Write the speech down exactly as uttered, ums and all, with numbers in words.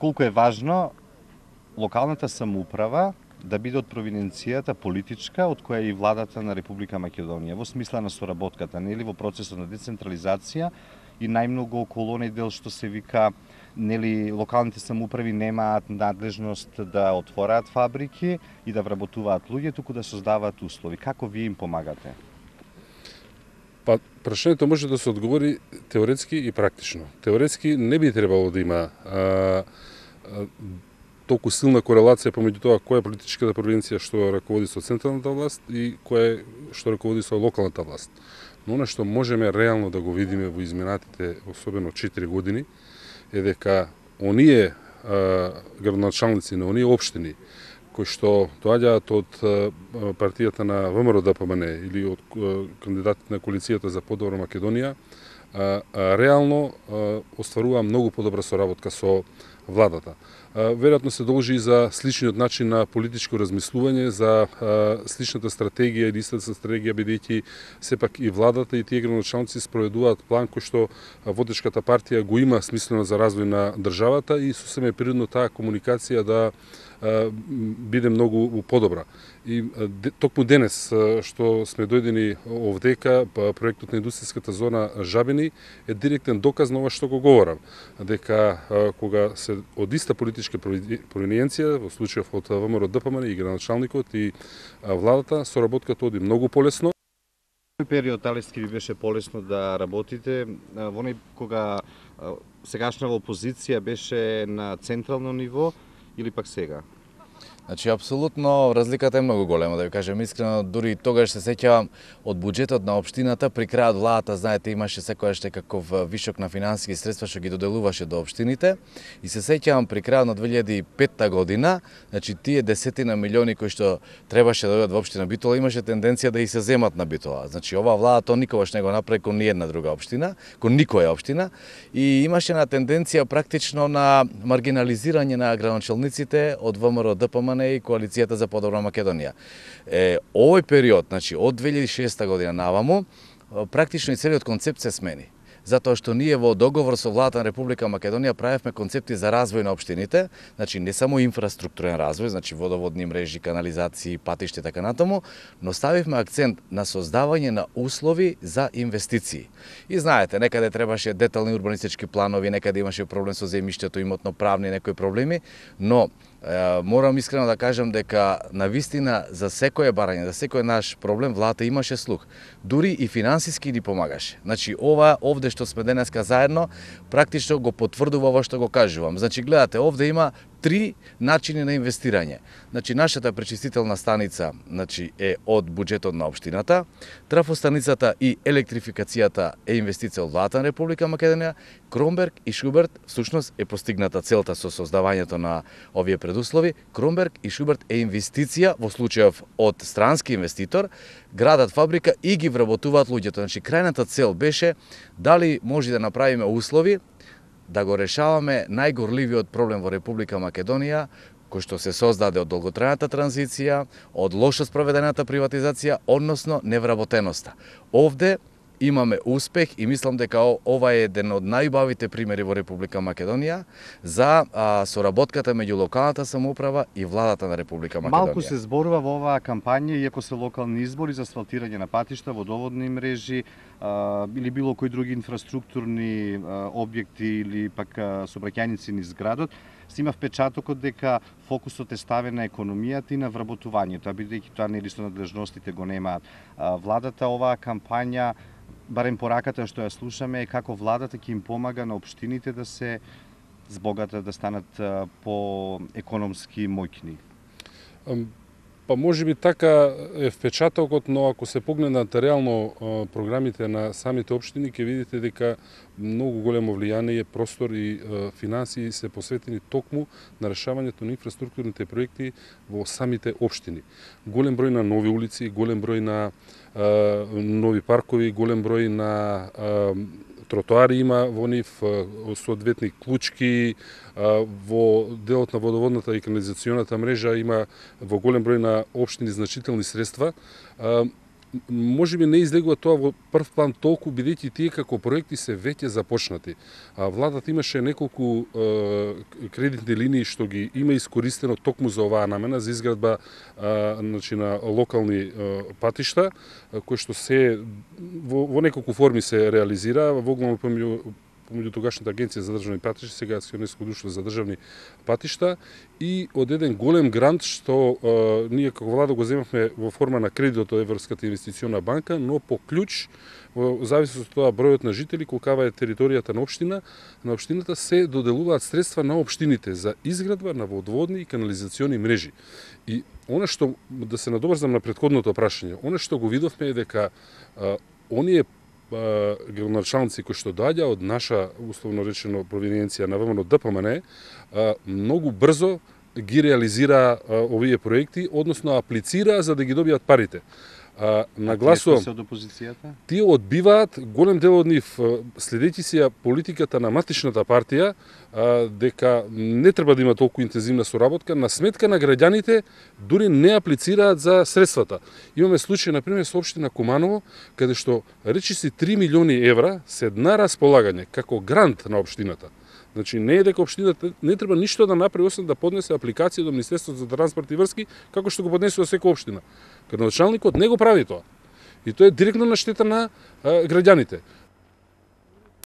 колку е важно локалната самоуправа да биде од провинцијата политичка, од која е и владата на Република Македонија, во смисла на соработката, нели, во процесот на децентрализација и најмногу околу оној дел што се вика, нели, локалните самоуправи немаат надлежност да отвораат фабрики и да вработуваат луѓе, туку да создаваат услови. Како вие им помагате? Па, прашањето може да се одговори теоретски и практично. Теоретски не би требало да има а, а, толку силна корелација помеѓу тоа која е политичката провинција што раководи со централната власт и која е што раководи со локалната власт. Но она што можеме реално да го видиме во изминатите, особено четири години, е дека оние а, градоначалници на оние општини кои што доаѓаат од а, партијата на ВМРО-ДПМН или од а, кандидатите на коалицијата за подобра Македонија, а, а, реално а, остварува многу подобра соработка со владата. Веројатно се должи и за сличниот начин на политичко размислување, за сличната стратегија или истата стратегија, бидејќи сепак и владата и тие градоначалници спроведуваат план кој што водечката партија го има смислено за развој на државата и сосема е природно таа комуникација да биде многу подобра. И токму денес што сме дојдени овдека, проектот на индустријската зона Жабини е директен доказ на ова што го говорам, дека кога се од иста политичка провиненција, во случајов од ВМРО-ДПМН и градоначалникот и владата, соработката оди многу полесно. Кој период Алески ви беше полесно да работите, во оној кога сегашнава опозиција беше на централно ниво или пак сега? Значи, апсолутно, разликата е многу голема, да ви кажем искрено, дури и тогаш се сеќавам од буџетот на општината, при крајот владата, знаете, имаше секојаш некаков вишок на финансиски средства што ги доделуваше до општините, и се сеќавам при крајот на две илјади и петта година, значи тие десетина милиони кои што требаше да дојдат во општина Битола, имаше тенденција да и се земат на Битола. Значи, оваа влада тоа никогаш не го направи кон ниедна друга општина, кон никоја општина, и имаше на тенденција практично на маргинализирање на градоначалниците од ВМРО-ДПМН и коалицијата за подобра Македонија. Е, овој период, значи од две илјади и шеста година наваму, практично и целиот концепт се смени. Затоа што ние во договор со владата на Република Македонија правевме концепти за развој на општините, значи не само инфраструктурен развој, значи водоводни мрежи, канализации, патишта и така натаму, но ставивме акцент на создавање на услови за инвестиции. И знаете, некаде требаше детални урбанистички планови, некаде имаше проблем со земјиштето, имотно-правни некои проблеми, но е, морам искрено да кажам дека на вистина за секое барање, за секој наш проблем владата имаше слух. Дури и финансиски ни помагаше. Значи ова овде што сме денеска заедно, практично го потврдува ова што го кажувам. Значи гледате, овде има три начини на инвестирање. Значи нашата пречистителна станица, значи е од буџетот на општината, трафостаницата и електрификацијата е инвестиција од владата на Република Македонија, Кромберг и Шуберт всушност е постигната целта со создавањето на овие предуслови. Кромберг и Шуберт е инвестиција во случајов од странски инвеститор, градат фабрика и ги вработуваат луѓето. Значи крајната цел беше дали може да направиме услови да го решаваме најгорливиот проблем во Република Македонија, кој што се создаде од долготрајната транзиција, од лошо спроведената приватизација, односно невработеноста. Овде имаме успех и мислам дека ова е еден од најубавите примери во Република Македонија за а, соработката меѓу локалната самоуправа и владата на Република Македонија. Малку се зборува во оваа кампања, иако се локални избори, за асфалтирање на патишта, водоводни мрежи а, или било кои други инфраструктурни а, објекти или пак а, сообраќајници низ градот, се има впечатокот дека фокусот е ставен на економијата и на вработувањето, а бидејќи тоа нели со надлежностите го немаат владата. Оваа кампања, барем пораката што ја слушаме, е како владата ќе им помага на општините да се збогатат, да станат по економски моќни. Па може би така е впечатокот, но ако се погледнат реално програмите на самите општини, ќе видите дека многу големо влијание, простор и финансии се посветени токму на решавањето на инфраструктурните проекти во самите општини. Голем број на нови улици, голем број на нови паркови, голем број на тротоари има во нив, соодветни клучки, во делот на водоводната и канализационата мрежа има во голем број на општини значителни средства. може би не излегува тоа во прв план толку, бидејќи тие како проекти се веќе започнати. А владата имаше неколку е, кредитни линии што ги има искористено токму за оваа намена, за изградба е, значи, на локални е, патишта, кои што се во, во неколку форми се реализира, во главно помеѓу помеѓу тогашната агенција за државни патишта, сега акционерско друштво за државни патишта, и од еден голем грант што е, ние како влада го земавме во форма на кредит од Европската инвестициона банка, но по клjuč, во зависност од тоа бројот на жители, колкава е територијата на општина, на општината се доделуваат средства на општините за изградба на водоводни и канализациони мрежи. И она што, да се надоврзам на претходното прашање, она што го видовме е дека е, оние градоначалници кои што доаѓа од наша, условно речено, провиненција на ВМРО ДПМН, многу брзо ги реализира овие проекти, односно аплицира за да ги добијат парите. Нагласувам, од опозицијата? Тие одбиваат, голем дел од нив, следејќи си политиката на матичната партија, дека не треба да има толку интензивна соработка, на сметка на граѓаните дури не аплицираат за средствата. Имаме случај, например, со општина Куманово, каде што речиси три милиони евра се на располагање како грант на општината. Значи, не е дека општината не треба ништо да направи, освен да поднесе апликација до Министерството за транспорт и врски, како што го поднесува секоја општина. Градоначалникот не го прави тоа. И тоа е директно на штета на а, граѓаните.